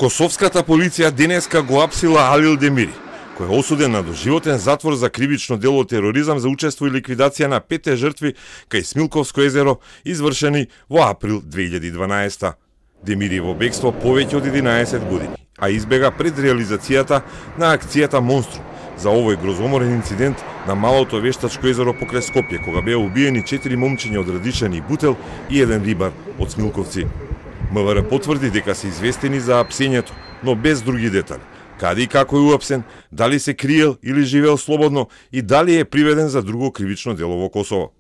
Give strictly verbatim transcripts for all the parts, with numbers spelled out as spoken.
Косовската полиција денеска го апсила Алил Демири, кој е осуден на доживотен затвор за кривично дело тероризам за учество и ликвидација на петте жртви кај Смилковско езеро, извршени во април две илјади и дванаесета. Демири во бегство повеќе од единаесет години, а избега пред реализацијата на акцијата Монструм за овој грозоморен инцидент на малото вештачко езеро покрај Скопје, кога беа убиени четири момчиња од Радишани и Бутел и еден рибар од Смилковци. МВР потврди дека се известени за апсењето, но без други детали. Каде и како е уапсен, дали се криел или живеел слободно и дали е приведен за друго кривично дело во Косово.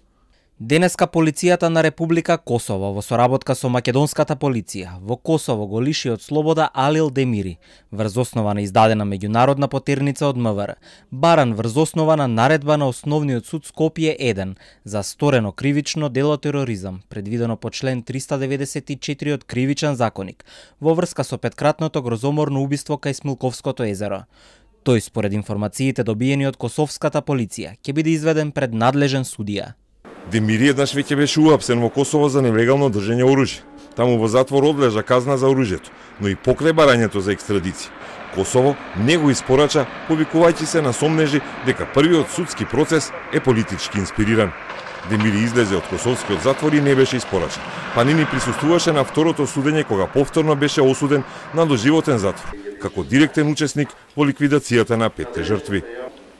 Денеска полицијата на Република Косово во соработка со македонската полиција во Косово го лиши од слобода Алил Демири врз основа на издадена меѓународна потерница од МВР, баран врз основа на наредба на Основниот суд Скопје еден за сторено кривично дело тероризам, предвидено по член триста деветдесет и четири од Кривичен законик, во врска со петкратното грозоморно убиство кај Смилковското езеро. Тој, според информациите добиени од косовската полиција, ќе биде изведен пред надлежен судија. Демири еднаш веќе беше уапсен во Косово за нелегално држење оружје. Таму во затвор одлежа казна за оружјето, но и покрај барањето за екстрадиција. Косово не го испорача, повикувајќи се на сомнежи дека првиот судски процес е политички инспириран. Демири излезе од косовскиот затвор и не беше испорачен, па нини присуствуваше на второто судење кога повторно беше осуден на доживотен затвор, како директен учесник во ликвидацијата на петте жртви.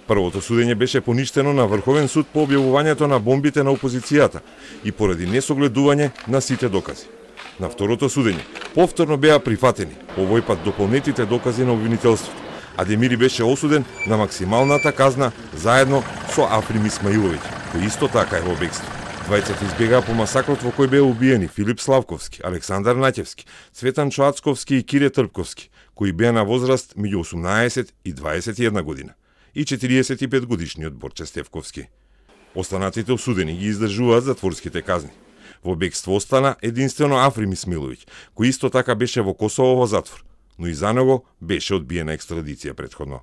Првото судење беше поништено на Врховен суд по објавувањето на бомбите на опозицијата и поради несогледување на сите докази. На второто судење повторно беа прифатени, овој пат дополнетите докази на обвинителството, а Демири беше осуден на максималната казна заедно со Африм Исмаиловиќ, кој исто така е во бегство. Двајцата избегаа по масакрот во кој беа убиени Филип Славковски, Александар Наќевски, Цветан Чоацковски и Кире Трпковски, кои беа на возраст меѓу осумнаесет и дваесет и една година, и четириесет и пет годишниот Борче Стевковски. Останатите осудени ги издржуваат затворските казни. Во бегство остана единствено Африм Исмаиловиќ, кој исто така беше во Косово во затвор, но и за него беше одбиена екстрадиција претходно.